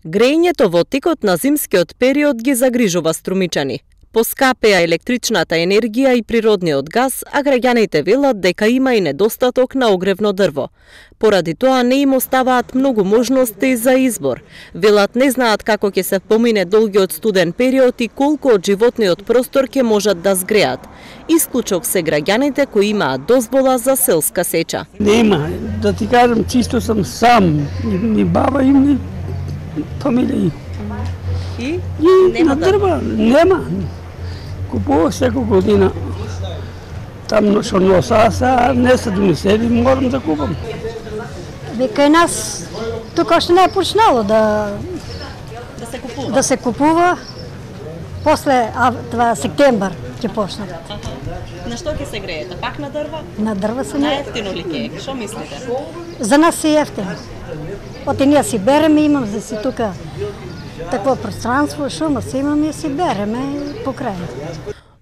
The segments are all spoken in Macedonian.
Грејењето во текот на зимскиот период ги загрижува струмичани. Поскапеа електричната енергија и природниот газ, а граѓаните велат дека има и недостаток на огревно дрво. Поради тоа не им оставаат многу можности за избор. Велат не знаат како ќе се помине долгиот студен период и колку од животниот простор ќе можат да згреат. Исклучок се граѓаните кои имаат дозвола за селска сеча. Нема, да ти кажам, чисто сам сам, ни баба им, ни фамилија. И нема дрва, нема. Купувах секој година. Таму што носа, а не се донесели, морам да купам. Кај нас тука още не е почнало да се купува. После септембар ќе почнат. На што ќе се греете? Пак на дрва? На дрва се не. Најефтино ли ќе е? Што мислите? За нас е ефтино. Оти ние си береме, имам за си тука такво пространство, шума си имаме и си береме покрај.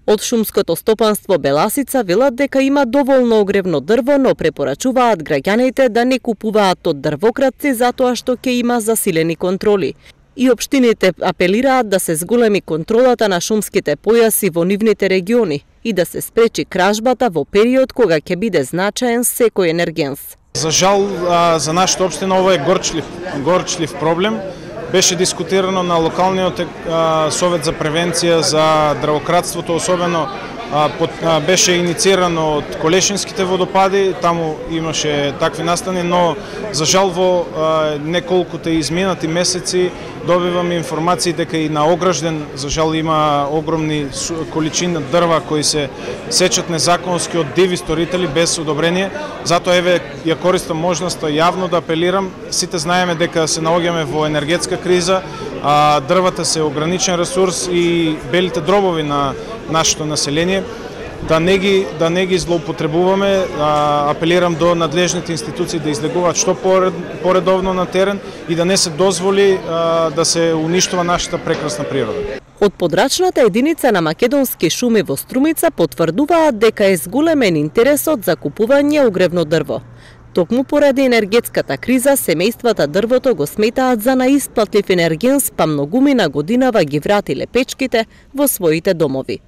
Од шумското стопанство Беласица велат дека има доволно огревно дрво, но препорачуваат граѓаните да не купуваат од дрвократци затоа што ќе има засилени контроли. И општините апелираат да се зголеми контролата на шумските појаси во нивните региони и да се спречи кражбата во период кога ќе биде значаен секој енергенс. За жал, за нашата општина ова е горчлив проблем. Беше дискутирано на локалниот совет за превенција за дрвократството, особено беше инициирано од Колешинските водопади, таму имаше такви настани, но за жал во неколкуте изминати месеци добивам информации дека и на Огражден за жал има огромни количина дрва кои се сечат незаконски од диви сторители без одобрение. Затоа еве ја користам можноста јавно да апелирам. Сите знаеме дека се наоѓаме во енергетска криза, дрвата се ограничен ресурс и белите дробови на нашето население, да не ги злоупотребуваме. Апелирам до надлежните институции да излегуваат што поредовно на терен и да не се дозволи да се уништува нашата прекрасна природа. Од подрачната единица на македонски шуми во Струмица потврдуваат дека е зголемен интересот за купување огревно дрво. Токму поради енергетската криза, семејствата дрвото го сметаат за наисплатлив енергенс, па многумина годинава ги вратиле печките во своите домови.